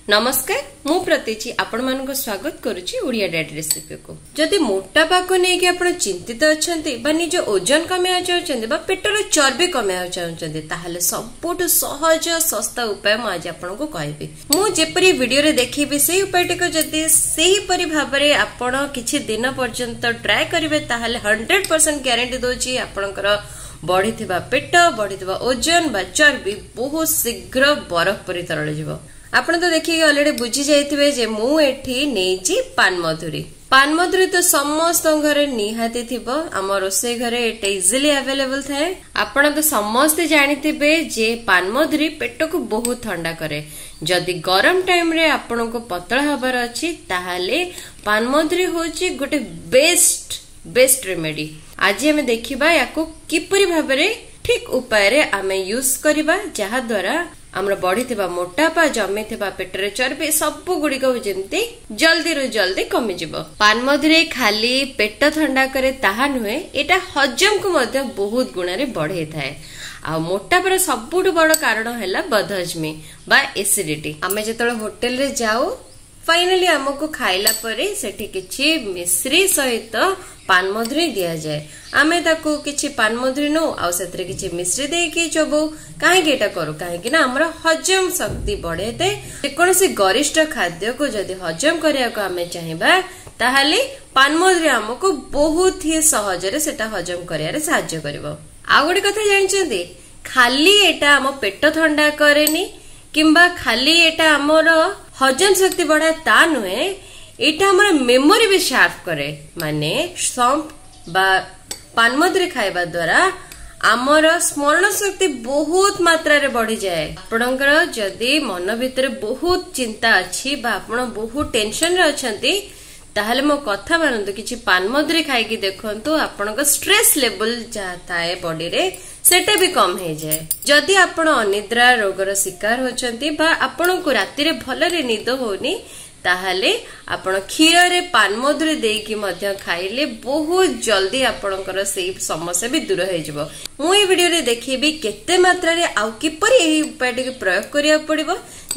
ନମସ୍କାର, ମୁଁ ପ୍ରତୀଚି ଆପଣମାନଙ୍କୁ ସ୍ୱାଗତ କରୁଛି ଓଡ଼ିଆ ଡାଏଟ୍ ରେସିପିକୁ। ଯଦି ମୋଟାପାକୁ ନେଇକି ଆପଣ ଚିନ୍ତିତ ଅଛନ୍ତି ବା ନିଜ ଓଜନ କମେଇବାକୁ ଚାହୁଁଛନ୍ତି ବା ପେଟର ଚର୍ବି କମେଇବାକୁ ଚାହୁଁଛନ୍ତି, ତାହେଲେ ସବୁଠୁ ସହଜ ଶସ୍ତା ଉପାୟ ମୁଁ ଆଜି ଆପଣଙ୍କୁ କହିବି। ମୁଁ ଯେପରି ଭିଡିଓରେ ଦେଖେଇବି ସେଇ ଉପାୟଟିକୁ ଯଦି ସେହିପରି ଭାବରେ ଆପଣ କିଛି ଦିନ ପର୍ଯ୍ୟନ୍ତ ଟ୍ରାଏ କରିବେ, ତାହେଲେ 100% ଗ୍ୟାରେଣ୍ଟି ଦଉଛି ଆପଣଙ୍କର ବଢିଥିବା ପେଟ, ବଢିଥିବା ଓଜନ ବା ଚର୍ବି ବହୁତ ଶୀଘ୍ର ବରଫ ପରି ତରଳିଯିବ। ଆପଣ ତ ଦେଖିକି ଅଲରେଡି ବୁଝି ଯାଇଥିବେ ଯେ ମୁଁ ଏଠି ନେଇଛି ପାନମଧୁରୀ। ପାନମଧୁରୀ ତ ସମସ୍ତଙ୍କ ଘରେ ନିହାତି ଥିବ, ଆମ ରୋଷେଇ ଘରେ ଏଟା ଇଜିଲି ଆଭେଲେବଲ ଥାଏ। ଆପଣ ତ ସମସ୍ତେ ଜାଣିଥିବେ ଯେ ପାନମଧୁରୀ ପେଟକୁ ବହୁତ ଥଣ୍ଡା କରେ। ଯଦି ଗରମ ଟାଇମରେ ଆପଣଙ୍କୁ ପତଳା ହବାର ଅଛି, ତାହେଲେ ପାନମଧୁରୀ ହଉଛି ଗୋଟେ ବେଷ୍ଟ ରେମେଡି। ଆଜି ଆମେ ଦେଖିବା ୟାକୁ କିପରି ଭାବରେ ଠିକ ଉପାୟରେ ଆମେ ୟୁଜ କରିବା, ଯାହା ଦ୍ୱାରା ଆମର ବଢିଥିବା ମୋଟାପା, ଜମିଥିବା ପେଟରେ ଚର୍ବି ସବୁ ଗୁଡିକ ଯେମିତି ଜଲ୍ଦିରୁ ଜଲ୍ଦି କମିଯିବ। ପାନମଧୁରୀ ଖାଲି ପେଟ ଥଣ୍ଡା କରେ ତାହା ନୁହେଁ, ଏଇଟା ହଜମକୁ ମଧ୍ୟ ବହୁତ ଗୁଣରେ ବଢେଇଥାଏ। ଆଉ ମୋଟାପାର ସବୁଠୁ ବଡ କାରଣ ହେଲା ବଦହଜମି ବା ଏସିଡିଟି। ଆମେ ଯେତେବେଳେ ହୋଟେଲରେ ଯାଉ, ଫାଇନାଲି ଆମକୁ ଖାଇଲା ପରେ ସେଠି କିଛି ମିଶ୍ରି ସହିତ ପାନମଧୁରୀ ଦିଆଯାଏ। ଆମେ ତାକୁ କିଛି ପାନମଧୁରୀ ନଉ ଆଉ ସେଥିରେ କିଛି ମିଶ୍ରି ଦେଇକି ଚୋବଉ। କାହିଁକି ଏଇଟା କରୁ? କାହିଁକି ନା ଆମର ହଜମ ଶକ୍ତି ବଢେଇଥାଏ। ଯେକୌଣସି ଗରିଷ୍ଠ ଖାଦ୍ୟକୁ ଯଦି ହଜମ କରିବାକୁ ଆମେ ଚାହିଁବା, ତାହେଲେ ପାନମଧୁରୀ ଆମକୁ ବହୁତ ହି ସହଜରେ ସେଟା ହଜମ କରିବାରେ ସାହାଯ୍ୟ କରିବ। ଆଉ ଗୋଟେ କଥା ଜାଣିଛନ୍ତି, ଖାଲି ଏଇଟା ଆମ ପେଟ ଥଣ୍ଡା କରେନି କିମ୍ବା ଖାଲି ଏଇଟା ଆମର ହଜମ ଶକ୍ତି ବଢାଏ ତା ନୁହେଁ, ଏଇଟା ଆମର ମେମୋରି ବି ସାର୍ପ କରେ। ମାନେ ସମ୍ପ ବା ପାନମଧୁରୀ ଖାଇବା ଦ୍ୱାରା ଆମର ସ୍ମରଣ ଶକ୍ତି ବହୁତ ମାତ୍ରାରେ ବଢିଯାଏ। ଆପଣଙ୍କର ଯଦି ମନ ଭିତରେ ବହୁତ ଚିନ୍ତା ଅଛି ବା ଆପଣ ବହୁତ ଟେନସନରେ ଅଛନ୍ତି, ତାହେଲେ ମୋ କଥା ମାନନ୍ତୁ, କିଛି ପାନମଧୁରୀ ଖାଇକି ଦେଖନ୍ତୁ, ଆପଣଙ୍କ ଷ୍ଟ୍ରେସ୍ ଲେବୁଲ ଯାହା ଥାଏ ବଡିରେ ସେଟା ବି କମ ହେଇଯାଏ। ଯଦି ଆପଣ ଅନିଦ୍ରା ରୋଗର ଶିକାର ହଉଛନ୍ତି ବା ଆପଣଙ୍କୁ ରାତିରେ ଭଲରେ ନିଦ ହଉନି, ତାହେଲେ ଆପଣ କ୍ଷୀରରେ ପାନମଧୁରୀ ଦେଇକି ମଧ୍ୟ ଖାଇଲେ ବହୁତ ଜଲ୍ଦି ଆପଣଙ୍କର ସେଇ ସମସ୍ୟା ବି ଦୂର ହେଇଯିବ। ମୁଁ ଏଇ ଭିଡିଓରେ ଦେଖେଇବି କେତେ ମାତ୍ରାରେ ଆଉ କିପରି ଏହି ଉପାୟଟିକୁ ପ୍ରୟୋଗ କରିବାକୁ ପଡିବ,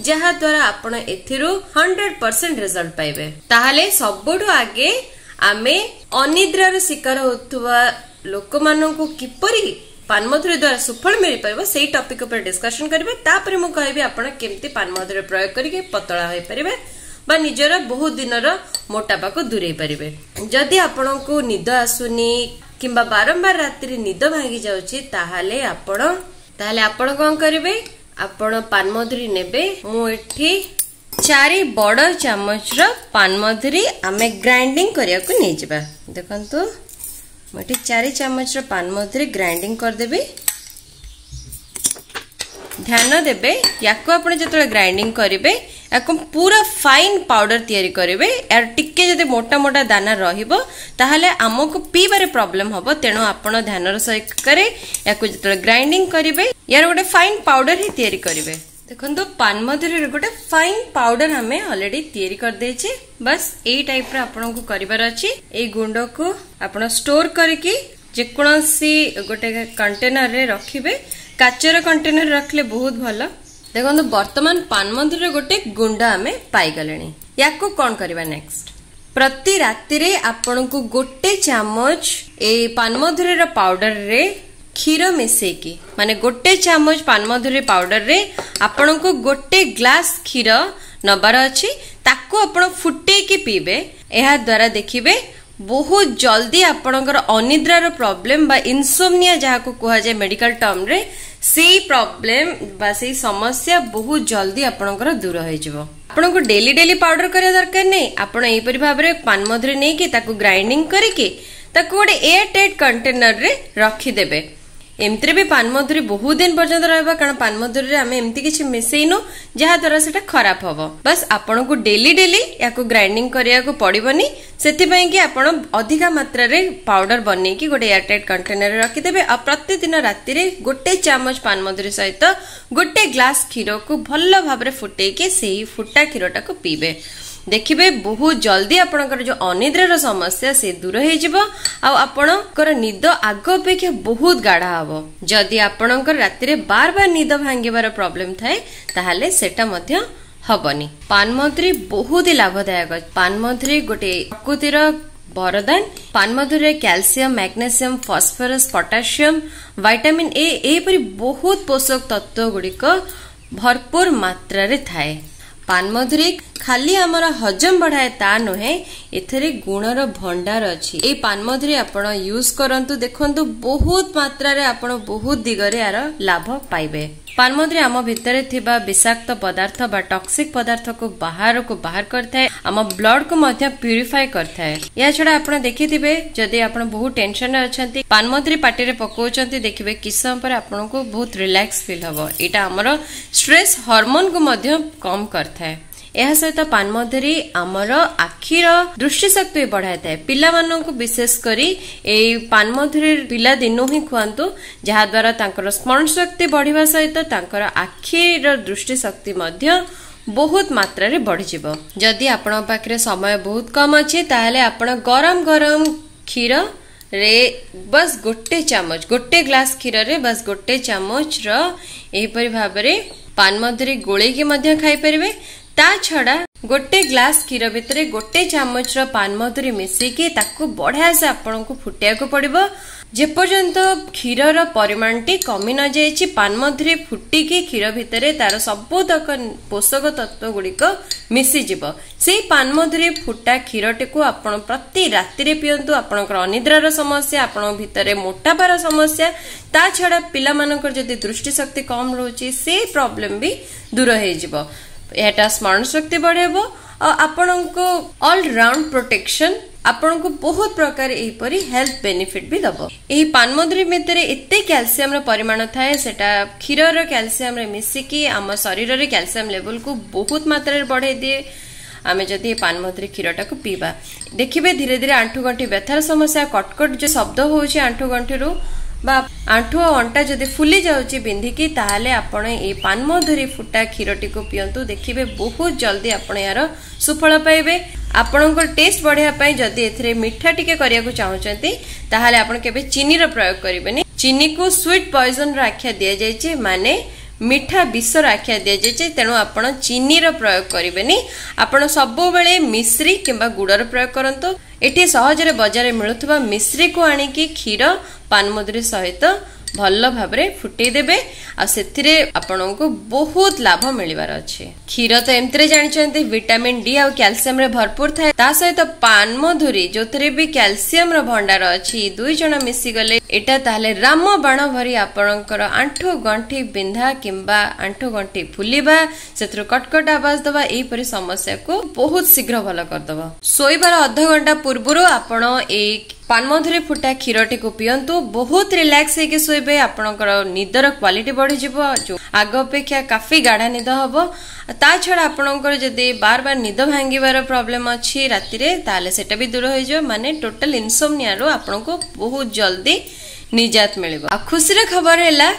ଯାହା ଦ୍ୱାରା ଆପଣ ଏଥିରୁ 100% ରେଜଲ୍ଟ ପାଇବେ। ତାହେଲେ ସବୁଠୁ ଆଗେ ଆମେ ଅନିଦ୍ରାର ଶିକାର ହଉଥିବା ଲୋକମାନଙ୍କୁ କିପରି ପାନମଧୁରୀ ଦ୍ୱାରା ସୁଫଳ ମିଳିପାରିବ ସେଇ ଟପିକ ଉପରେ ଡିସ୍କସନ କରିବା। ତାପରେ ମୁଁ କହିବି ଆପଣ କେମିତି ପାନମଧୁରୀ ପ୍ରୟୋଗ କରିକି ପତଳା ହୋଇପାରିବେ ବା ନିଜର ବହୁତ ଦିନର ମୋଟାପାକୁ ଦୂରେଇ ପାରିବେ। ଯଦି ଆପଣଙ୍କୁ ନିଦ ଆସୁନି କିମ୍ବା ବାରମ୍ବାର ରାତିରେ ନିଦ ଭାଙ୍ଗି ଯାଉଛି, ତାହେଲେ ଆପଣ କଣ କରିବେ, ଆପଣ ପାନମଧୁରୀ ନେବେ। ମୁଁ ଏଠି 4 ବଡ ଚାମଚର ପାନମଧୁରୀ ଆମେ ଗ୍ରାଇଣ୍ଡିଂ କରିବାକୁ ନେଇଯିବା। ଦେଖନ୍ତୁ, ମୁଁ ଏଠି 4 ଚାମଚର ପାନମଧୁରୀ ଗ୍ରାଇଣ୍ଡିଂ କରିଦେବି। ଧ୍ୟାନ ଦେବେ, ୟାକୁ ଆପଣ ଯେତେବେଳେ ଗ୍ରାଇଣ୍ଡିଂ କରିବେ ୟାକୁ ପୁରା ଫାଇନ୍ ପାଉଡର ତିଆରି କରିବେ। ୟାର ଟିକେ ଯଦି ମୋଟା ମୋଟା ଦାନା ରହିବ, ତାହେଲେ ଆମକୁ ପିଇବାରେ ପ୍ରୋବ୍ଲେମ ହବ। ତେଣୁ ଆପଣ ଧ୍ୟାନର ସହକାରେ ୟାକୁ ଯେତେବେଳେ ଗ୍ରାଇଣ୍ଡିଂ କରିବେ, ୟାର ଗୋଟେ ଫାଇନ୍ ପାଉଡର ହିଁ ତିଆରି କରିବେ। ଦେଖନ୍ତୁ, ପାନମଧୁରୀର ଗୋଟେ ଫାଇନ୍ ପାଉଡର ଆମେ ଅଲରେଡି ତିଆରି କରିଦେଇଛେ। ବାସ୍, ଏଇ ଟାଇପର ଆପଣଙ୍କୁ କରିବାର ଅଛି। ଏଇ ଗୁଣ୍ଡକୁ ଆପଣ ଷ୍ଟୋର କରିକି ଯେକୌଣସି ଗୋଟେ କଣ୍ଟେନରରେ ରଖିବେ। କାଚର କଣ୍ଟେନର ରଖିଲେ ବହୁତ ଭଲ। ଦେଖନ୍ତୁ, ବର୍ତ୍ତମାନ ପାନମଧୁରୀର ଗୋଟେ ଗୁଣ୍ଡ ଆମେ ପାଇଗଲେଣି। ୟାକୁ କଣ କରିବା ନେକ୍ସଟ? ପ୍ରତି ରାତିରେ ଆପଣଙ୍କୁ ଗୋଟେ ଚାମଚ ଏଇ ପାନମଧୁରୀର ପାଉଡରରେ କ୍ଷୀର ମିଶେଇକି, ମାନେ ଗୋଟେ ଚାମଚ ପାନମଧୁରୀ ପାଉଡରରେ ଆପଣଙ୍କୁ ଗୋଟେ ଗ୍ଲାସ କ୍ଷୀର ନବାର ଅଛି, ତାକୁ ଆପଣ ଫୁଟେଇକି ପିଇବେ। ଏହା ଦ୍ୱାରା ଦେଖିବେ ବହୁତ ଜଲ୍ଦି ଆପଣଙ୍କର ଅନିଦ୍ରାର ପ୍ରୋବ୍ଲେମ ବା ଇନସୋମନିଆ ଯାହାକୁ କୁହାଯାଏ ମେଡିକାଲ ଟର୍ମରେ, ସେଇ ପ୍ରୋବ୍ଲେମ ବା ସେଇ ସମସ୍ୟା ବହୁତ ଜଲ୍ଦି ଆପଣଙ୍କର ଦୂର ହେଇଯିବ। ଆପଣଙ୍କୁ ଡେଲି ଡେଲି ପାଉଡର କରିବା ଦରକାର ନାହିଁ। ଆପଣ ଏହିପରି ଭାବରେ ପାନମଧୁରୀ ନେଇକି ତାକୁ ଗ୍ରାଇଣ୍ଡିଂ କରିକି ତାକୁ ଗୋଟେ ଏୟାର ଟାଇଟ୍ କଣ୍ଟେନରରେ ରଖିଦେବେ। ଏମିତିରେ ବି ପାନମଧୁରୀ ବହୁତ ଦିନ ପର୍ଯ୍ୟନ୍ତ ରହିବ, କାରଣ ପାନମଧୁରୀରେ ଆମେ ଏମିତି କିଛି ମିଶେଇନୁ ଯାହା ଦ୍ୱାରା ସେଟା ଖରାପ ହବ। ବାସ୍, ଆପଣଙ୍କୁ ଡେଲି ଡେଲି ୟାକୁ ଗ୍ରାଇଣ୍ଡିଂ କରିବାକୁ ପଡିବନି, ସେଥିପାଇଁ କି ଆପଣ ଅଧିକା ମାତ୍ରାରେ ପାଉଡର ବନେଇକି ଗୋଟେ ଏୟାର ଟାଇଟ୍ କଣ୍ଟେନରରେ ରଖିଦେବେ ଆଉ ପ୍ରତିଦିନ ରାତିରେ ଗୋଟେ ଚାମଚ ପାନମଧୁରୀ ସହିତ ଗୋଟେ ଗ୍ଲାସ କ୍ଷୀରକୁ ଭଲ ଭାବରେ ଫୁଟେଇକି ସେଇ ଫୁଟା କ୍ଷୀରଟାକୁ ପିଇବେ। ଦେଖିବେ ବହୁତ ଜଲ୍ଦି ଆପଣଙ୍କର ଯୋଉ ଅନିଦ୍ରାର ସମସ୍ୟା ସେ ଦୂର ହେଇଯିବ ଆଉ ଆପଣଙ୍କର ନିଦ ଆଗ ଅପେକ୍ଷା ବହୁତ ଗାଢା ହବ। ଯଦି ଆପଣଙ୍କର ରାତିରେ ବାର ବାର ନିଦ ଭାଙ୍ଗିବାର ପ୍ରୋବ୍ଲେମ ଥାଏ, ତାହେଲେ ସେଟା ମଧ୍ୟ ହବନି। ପାନମଧୁରୀ ବହୁତ ହି ଲାଭଦାୟକ। ପାନମଧୁରୀ ଗୋଟେ ପ୍ରକୃତିର ବରଦାନ। ପାନମଧୁରୀରେ calcium, magnesium, phosphorus, potassium, vitamin A ଏହିପରି ବହୁତ ପୋଷକ ତତ୍ତ୍ୱ ଗୁଡ଼ିକ ଭରପୁର ମାତ୍ରାରେ ଥାଏ। ପାନମଧୁରୀ ଖାଲି ଆମର ହଜମ ବଢାଏ ତା ନୁହେଁ, ଏଥିରେ ଗୁଣର ଭଣ୍ଡାର ଅଛି। ଏଇ ପାନମଧୁରୀ ଆପଣ ୟୁଜ କରନ୍ତୁ, ଦେଖନ୍ତୁ ବହୁତ ମାତ୍ରାରେ ଆପଣ ବହୁତ ଦିଗରେ ଏହାର ଲାଭ ପାଇବେ। ପାନମଧୁରୀ ଆମ ଭିତରେ ଥିବା ବିଷାକ୍ତ ପଦାର୍ଥ ବା ଟକ୍ସିକ ପଦାର୍ଥକୁ ବାହାରକୁ ବାହାର କରିଥାଏ, ଆମ ବ୍ଲଡକୁ ମଧ୍ୟ ପ୍ୟୁରିଫାଏ କରିଥାଏ। ଏହା ଛଡା ଆପଣ ଦେଖିଥିବେ, ଯଦି ଆପଣ ବହୁତ ଟେନସନରେ ଅଛନ୍ତି, ପାନମଧୁରୀ ପାଟିରେ ପକଉଛନ୍ତି, ଦେଖିବେ କିଛି ସମୟ ପରେ ଆପଣଙ୍କୁ ବହୁତ ରିଲାକ୍ସ ଫିଲ୍ ହବ। ଏଇଟା ଆମର ଷ୍ଟ୍ରେସ୍ ହରମୋନକୁ ମଧ୍ୟ କମ କରିଥାଏ। ଏହା ସହିତ ପାନମଧୁରୀ ଆମର ଆଖିର ଦୃଷ୍ଟିଶକ୍ତି ବି ବଢାଇଥାଏ। ପିଲାମାନଙ୍କୁ ବିଶେଷ କରି ଏଇ ପାନମଧୁରୀ ପିଲା ଦିନୁ ହିଁ ଖୁଆନ୍ତୁ, ଯାହାଦ୍ୱାରା ତାଙ୍କର ସ୍ମରଣ ଶକ୍ତି ବଢିବା ସହିତ ତାଙ୍କର ଆଖିର ଦୃଷ୍ଟିଶକ୍ତି ମଧ୍ୟ ବହୁତ ମାତ୍ରାରେ ବଢିଯିବ। ଯଦି ଆପଣଙ୍କ ପାଖରେ ସମୟ ବହୁତ କମ ଅଛି, ତାହେଲେ ଆପଣ ଗରମ ଗରମ କ୍ଷୀର ରେ ବାସ୍ ଗୋଟେ ଚାମଚ, ଗୋଟେ ଗ୍ଲାସ କ୍ଷୀରରେ ବାସ୍ ଗୋଟେ ଚାମଚର ଏହିପରି ଭାବରେ ପାନମଧୁରୀ ଗୋଳେଇକି ମଧ୍ୟ ଖାଇପାରିବେ। ତା ଛଡା ଗୋଟେ ଗ୍ଲାସ କ୍ଷୀର ଭିତରେ ଗୋଟେ ଚାମଚର ପାନମଧୁରୀ ମିଶେଇକି ତାକୁ ବଢିଆ ସେ ଆପଣଙ୍କୁ ଫୁଟେଇବାକୁ ପଡିବ, ଯେପର୍ଯ୍ୟନ୍ତ କ୍ଷୀରର ପରିମାଣଟି କମି ନଯାଇଛି। ପାନମଧୁରୀ ଫୁଟିକି କ୍ଷୀର ଭିତରେ ତାର ସବୁତକ ପୋଷକ ତତ୍ତ୍ୱ ଗୁଡ଼ିକ ମିଶିଯିବ। ସେଇ ପାନମଧୁରୀ ଫୁଟା କ୍ଷୀରଟିକୁ ଆପଣ ପ୍ରତି ରାତିରେ ପିଅନ୍ତୁ। ଆପଣଙ୍କର ଅନିଦ୍ରାର ସମସ୍ୟା, ଆପଣଙ୍କ ଭିତରେ ମୋଟାପାର ସମସ୍ୟା, ତା ଛଡା ପିଲାମାନଙ୍କର ଯଦି ଦୃଷ୍ଟିଶକ୍ତି କମ ରହୁଛି, ସେ ପ୍ରୋବ୍ଲେମ ବି ଦୂର ହେଇଯିବ। ଏହାଟା ସ୍ମରଣ ଶକ୍ତି ବଢେଇବ ଆଉ ଆପଣଙ୍କୁ ଅଲରାଉଣ୍ଡ ପ୍ରୋଟେକ୍ସନ, ଆପଣଙ୍କୁ ବହୁତ ପ୍ରକାର ଏହିପରି ହେଲ୍ଥ ବେନିଫିଟ ବି ଦବ। ଏହି ପାନମଧୁରୀ ଭିତରେ ଏତେ କ୍ୟାଲସିୟମର ପରିମାଣ ଥାଏ, ସେଟା କ୍ଷୀରର କ୍ୟାଲସିୟମରେ ମିଶିକି ଆମ ଶରୀରରେ କ୍ୟାଲସିୟମ ଲେଭେଲକୁ ବହୁତ ମାତ୍ରାରେ ବଢେଇ ଦିଏ। ଆମେ ଯଦି ଏ ପାନମଧୁରୀ କ୍ଷୀରଟାକୁ ପିଇବା, ଦେଖିବେ ଧୀରେ ଧୀରେ ଆଣ୍ଠୁଗଣ୍ଠି ବ୍ୟଥାର ସମସ୍ୟା, କଟକଟ ଯୋଉ ଶବ୍ଦ ହଉଛି ଆଣ୍ଠୁଗଣ୍ଠିରୁ ବା ଆଣ୍ଠୁ ଆଉ ଅଣ୍ଟା ଯଦି ଫୁଲି ଯାଉଛି ବିନ୍ଧିକି, ତାହେଲେ ଆପଣ ଏଇ ପାନମଧୁରୀ ଫୁଟା କ୍ଷୀରଟିକୁ ପିଅନ୍ତୁ। ଦେଖିବେ ବହୁତ ଜଲ୍ଦି ଆପଣ ଏହାର ସୁଫଳ ପାଇବେ। ଆପଣଙ୍କର ଟେଷ୍ଟ ବଢେଇବା ପାଇଁ ଯଦି ଏଥିରେ ମିଠା ଟିକେ କରିବାକୁ ଚାହୁଁଛନ୍ତି, ତାହେଲେ ଆପଣ କେବେ ଚିନିର ପ୍ରୟୋଗ କରିବେନି। ଚିନିକୁ ସୁଇଟ୍ ପଏଜନର ଆଖ୍ୟା ଦିଆଯାଇଛି, ମାନେ ମିଠା ବିଷର ଆଖ୍ୟା ଦିଆଯାଇଛି। ତେଣୁ ଆପଣ ଚିନିର ପ୍ରୟୋଗ କରିବେନି। ଆପଣ ସବୁବେଳେ ମିଶ୍ରି କିମ୍ବା ଗୁଡର ପ୍ରୟୋଗ କରନ୍ତୁ। ଏଠି ସହଜରେ ବଜାରରେ ମିଳୁଥିବା ମିଶ୍ରିକୁ ଆଣିକି କ୍ଷୀର ପାନମଧୁରୀ ସହିତ ଭଲ ଭାବରେ ଫୁଟେଇ ଦେବେ, ଆଉ ସେଥିରେ ଆପଣଙ୍କୁ ବହୁତ ଲାଭ ମିଳିବାର ଅଛି। କ୍ଷୀର ତ ଏମିତିରେ ଜାଣିଛନ୍ତି ଭିଟାମିନ ଡି ଆଉ କ୍ୟାଲସିୟମରେ ଭରପୁର ଥାଏ, ତା ସହିତ ପାନମଧୁରୀ ଯୋଉଥିରେ ବି କ୍ୟାଲସିୟମର ଭଣ୍ଡାର ଅଛି, ଦୁଇ ଜଣ ମିଶିଗଲେ ଏଇଟା ତାହେଲେ ରାମ ବାଣ ଭରି ଆପଣଙ୍କର ଆଣ୍ଠୁ ଗଣ୍ଠି ବିନ୍ଧା କିମ୍ବା ଆଣ୍ଠୁ ଗଣ୍ଠି ଫୁଲିବା, ସେଥିରୁ କଟକଟ ଆବାଜ ଦବା, ଏହିପରି ସମସ୍ୟାକୁ ବହୁତ ଶୀଘ୍ର ଭଲ କରିଦବ। ଶୋଇବାର ଅଧଘଣ୍ଟା ପୂର୍ବରୁ ଆପଣ ଏଇ ପାନମଧୁରୀ ଫୁଟା କ୍ଷୀରଟିକୁ ପିଅନ୍ତୁ, ବହୁତ ରିଲାକ୍ସ ହେଇକି ଶୋଇବେ। ଆପଣଙ୍କର ନିଦର କ୍ୱାଲିଟି ବଢିଯିବ, ଯୋଉ ଆଗ ଅପେକ୍ଷା କାଫି ଗାଢା ନିଦ ହବ। ତା ଛଡା ଆପଣଙ୍କର ଯଦି ବାର ବାର ନିଦ ଭାଙ୍ଗିବାର ପ୍ରୋବ୍ଲେମ ଅଛି ରାତିରେ, ତାହେଲେ ସେଟା ବି ଦୂର ହେଇଯିବ। ମାନେ ଟୋଟାଲ ଇନସୋମନିଆରୁ ଆପଣଙ୍କୁ ବହୁତ ଜଲ୍ଦି ନିଜାତ ମିଳିବ। ଆଉ ଖୁସିର ଖବର ହେଲା,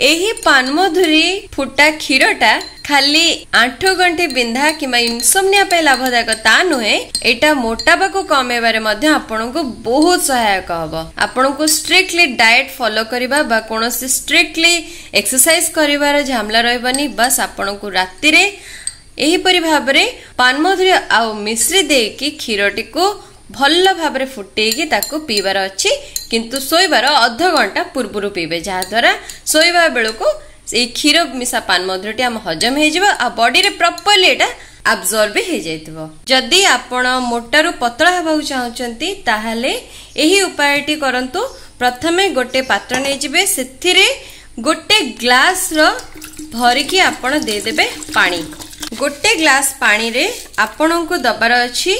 ଏହି ପାନମଧୁରୀ ଫୁଟା କ୍ଷୀରଟା ଖାଲି ଆଣ୍ଠୁ ଗଣ୍ଠି ବିନ୍ଧା କିମ୍ବା ଇନସୋମନିଆ ପାଇଁ ଲାଭଦାୟକ ତା ନୁହେଁ, ଏଇଟା ମୋଟାପାକୁ କମେଇବାରେ ମଧ୍ୟ ଆପଣଙ୍କୁ ବହୁତ ସହାୟକ ହବ। ଆପଣଙ୍କୁ ଷ୍ଟ୍ରିକ୍ଟଲି ଡାଏଟ ଫଲୋ କରିବା ବା କୌଣସି ଷ୍ଟ୍ରିକ୍ଟଲି ଏକ୍ସରସାଇଜ କରିବାର ଝାମଲା ରହିବନି। ବାସ୍ ଆପଣଙ୍କୁ ରାତିରେ ଏହିପରି ଭାବରେ ପାନମଧୁରୀ ଆଉ ମିଶ୍ରି ଦେଇକି କ୍ଷୀରଟିକୁ ଭଲ ଭାବରେ ଫୁଟେଇକି ତାକୁ ପିଇବାର ଅଛି, କିନ୍ତୁ ଶୋଇବାର ଅଧଘଣ୍ଟା ପୂର୍ବରୁ ପିଇବେ, ଯାହାଦ୍ୱାରା ଶୋଇବା ବେଳକୁ ଏଇ କ୍ଷୀର ମିଶା ପାନମଧୁରୀଟି ଆମ ହଜମ ହେଇଯିବ ଆଉ ବଡିରେ ପ୍ରପରଲି ଏଇଟା ଆବଜର୍ବ ବି ହେଇଯାଇଥିବ। ଯଦି ଆପଣ ମୋଟାରୁ ପତଳା ହେବାକୁ ଚାହୁଁଛନ୍ତି, ତାହେଲେ ଏହି ଉପାୟଟି କରନ୍ତୁ। ପ୍ରଥମେ ଗୋଟେ ପାତ୍ର ନେଇଯିବେ, ସେଥିରେ ଗୋଟେ ଗ୍ଲାସର ଭରିକି ଆପଣ ଦେଇଦେବେ ପାଣି। ଗୋଟେ ଗ୍ଲାସ ପାଣିରେ ଆପଣଙ୍କୁ ଦବାର ଅଛି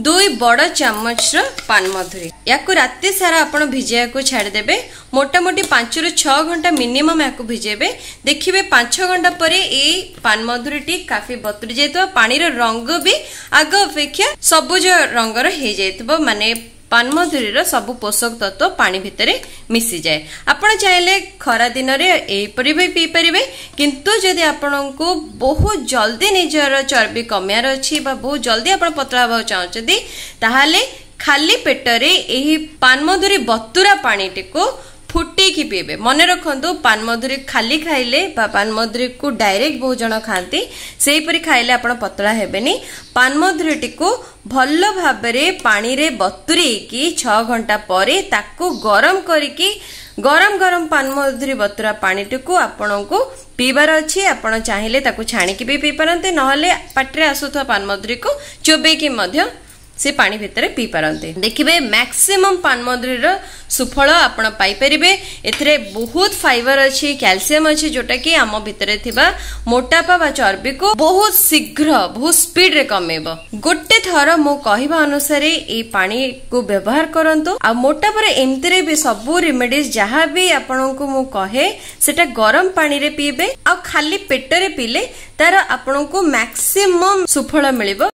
2 ବଡ ଚାମଚର ପାନମଧୁରୀ। ୟାକୁ ରାତି ସାରା ଆପଣ ଭିଜେଇବାକୁ ଛାଡ଼ିଦେବେ। ମୋଟାମୋଟି 5ରୁ 6 ଘଣ୍ଟା ମିନିମମ୍ ୟାକୁ ଭିଜେଇବେ। ଦେଖିବେ 5 ଘଣ୍ଟା ପରେ ଏଇ ପାନମଧୁରୀଟି କାଫି ବତୁରି ଯାଇଥିବ, ପାଣିର ରଙ୍ଗ ବି ଆଗ ଅପେକ୍ଷା ସବୁଜ ରଙ୍ଗର ହେଇଯାଇଥିବ, ମାନେ ପାନମଧୁରୀର ସବୁ ପୋଷକ ତତ୍ତ୍ୱ ପାଣି ଭିତରେ ମିଶିଯାଏ। ଆପଣ ଚାହିଁଲେ ଖରା ଦିନରେ ଏହିପରି ବି ପିଇପାରିବେ, କିନ୍ତୁ ଯଦି ଆପଣଙ୍କୁ ବହୁତ ଜଲ୍ଦି ନିଜର ଚର୍ବି କମିବାର ଅଛି ବା ବହୁତ ଜଲ୍ଦି ଆପଣ ପତଳା ହେବାକୁ ଚାହୁଁଛନ୍ତି, ତାହେଲେ ଖାଲି ପେଟରେ ଏହି ପାନମଧୁରୀ ବତୁରା ପାଣିଟିକୁ ଫୁଟେଇକି ପିଇବେ। ମନେ ରଖନ୍ତୁ, ପାନମଧୁରୀ ଖାଲି ଖାଇଲେ ବା ପାନମଧୁରୀକୁ ଡାଇରେକ୍ଟ ବହୁତ ଜଣ ଖାଆନ୍ତି, ସେହିପରି ଖାଇଲେ ଆପଣ ପତଳା ହେବେନି। ପାନମଧୁରୀଟିକୁ ଭଲ ଭାବରେ ପାଣିରେ ବତୁରେଇକି 6 ଘଣ୍ଟା ପରେ ତାକୁ ଗରମ କରିକି ଗରମ ଗରମ ପାନମଧୁରୀ ବତୁରା ପାଣିଟିକୁ ଆପଣଙ୍କୁ ପିଇବାର ଅଛି। ଆପଣ ଚାହିଁଲେ ତାକୁ ଛାଣିକି ବି ପିଇପାରନ୍ତି, ନହେଲେ ପାଟିରେ ଆସୁଥିବା ପାନମଧୁରୀକୁ ଚୋବେଇକି ମଧ୍ୟ ସେ ପାଣି ଭିତରେ ପିଇପାରନ୍ତି। ଦେଖିବେ, ମ୍ୟାକ୍ସିମମ୍ ପାନମଧୁରୀର ସୁଫଳ ଆପଣ ପାଇପାରିବେ। ଏଥିରେ ବହୁତ ଫାଇବର ଅଛି, କ୍ୟାଲସିୟମ ଅଛି, ଯୋଉଟା କି ଆମ ଭିତରେ ଥିବା ମୋଟାପା ବା ଚର୍ବିକୁ ବହୁତ ଶୀଘ୍ର, ବହୁତ ସ୍ପିଡରେ କମେଇବ। ଗୋଟେ ଥର ମୋ କହିବା ଅନୁସାରେ ଏଇ ପାଣିକୁ ବ୍ୟବହାର କରନ୍ତୁ। ଆଉ ମୋଟାପାର ଏମିତିରେ ବି ସବୁ ରେମେଡିଜ ଯାହା ବି ଆପଣଙ୍କୁ ମୁଁ କହେ, ସେଟା ଗରମ ପାଣିରେ ପିଇବେ ଆଉ ଖାଲି ପେଟରେ ପିଇଲେ ତାର ଆପଣଙ୍କୁ ମ୍ୟାକ୍ସିମମ୍ ସୁଫଳ ମିଳିବ।